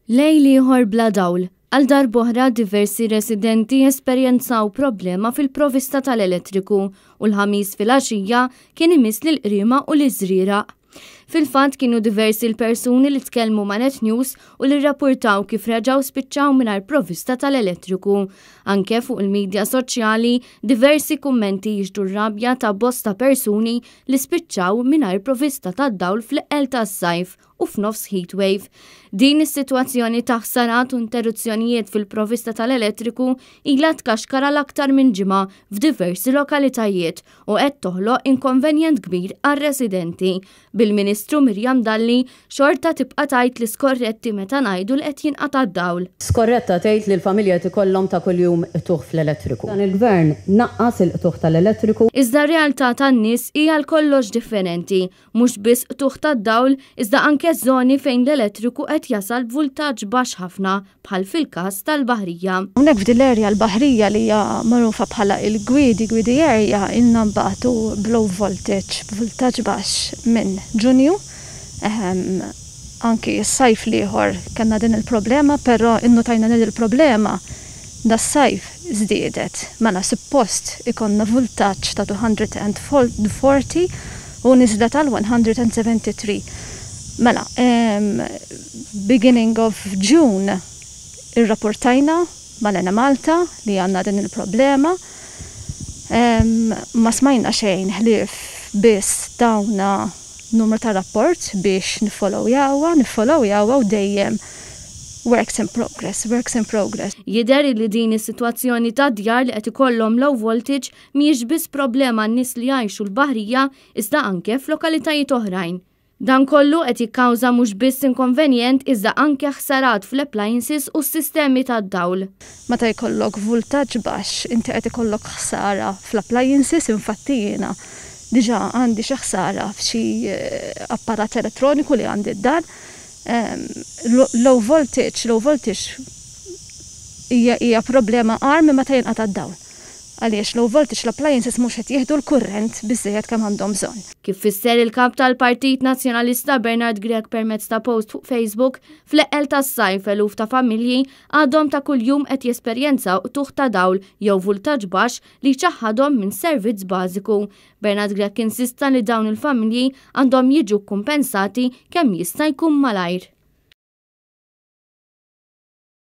Lejl ieħor bla dawl. Għal darb'oħra diversi residenti esperjenzaw problema fil-provista tal-elettriku u l-Ħamis filgħaxija kien imiss lill-Qriema u liż-Żrieraq. Fil-fatt kienu diversi l-persuni li tkellmu ma' Net News u li rrappurtaw kif reġgħu spiċċaw mingħajr provista tal-elettriku. Anke fuq il-midja soċjali diversi kummenti jixhdu r-rabja ta' bosta persuni li spiċċaw mingħajr provista tad-dawl fl-eqqel tas-sajf u f'nofs heatwave. Din is-sitwazzjoni ta' ħsarat u interruzzjonijiet fil-provista tal-elettriku ilha tkaxkar għal aktar minn ġimgħa f'diversi lokalitajiet u qed toħloq inkonvenjent kbir għar-residenti. Bil-Ministru Miriam Dalli xorta tibqa' tgħid li skorretti meta ngħidu li qed jinqata' d-dawl. Skorretta tgħid li l-familja qed ikollhom ta' kuljum qtugħ fl-elettriku. Dan il-Gvern naqqas il-qtugħ tal-elettriku. Iżda r-realtà tan-nies hi għal kollox differenti. Mhux biss qtugħ tad-dawl, iżda anke żoni fejn l-elettriku qed jasal b'vultaġġ baxx ħafna, bħal fil-każ tal-Baħrija. Hawnhekk f'din l-area l-Baħrija li hija magħrufa bħala il-Gwiedi, Gwiedi Area, ilna nbatu b'low voltage, b'vultaġġ baxx minn Ġunju. Anki s-sajf l-ieħor kellna din il-problema, però innutajna li l-problema das-sajf żdiedet. Mela suppost ikollna vultaġġ ta' 240 u niżlet għal 173. Mela, beginning of June irrapportajna mal-Enemalta li għandna din il-problema. Ma smajna xejn ħlief biss tawna numru ta' rapport biex niffollowjawha, niffollowjawha u dejjem works in progress, works in progress. Jidher li din is-sitwazzjoni ta' djar li qed ikollhom low voltage mhijiex biss problema għan-nies li jgħixu l-Baħrija iżda anke f'lokalitajiet oħrajn. Dan kollu qed jikkawża mhux biss inkonvenjent iżda anke ħsarat fl-appliances u s-sistemi tad-dawl. Meta jkollok vultaġġ baxx inti qed ikollok ħsara fl-appliances, infatti jiena diġà għandi xi ħsara f'xi apparat elettroniku li għandi d-dar. Low voltage, low voltage hija problema agħar minn meta jinqata' d-dawl. Għaliex low voltage l-appliances mhux qed jieħdu l-kurrent biżżejjed kemm għandhom bżonn. Kif fisser il-kap tal-Partit Nazzjonalista Bernard Grech permezz ta' post fuq Facebook, fl-eqqel tas-sajf eluf ta' familji għadhom ta' kuljum qed jesperjenzaw qtugħ ta' dawl jew vultaġġ baxx li jċaħħadhom minn servizz bażiku. Bernard Grech insista li dawn il-familji għandhom jiġu kkumpensati kemm jista' jkun malajr.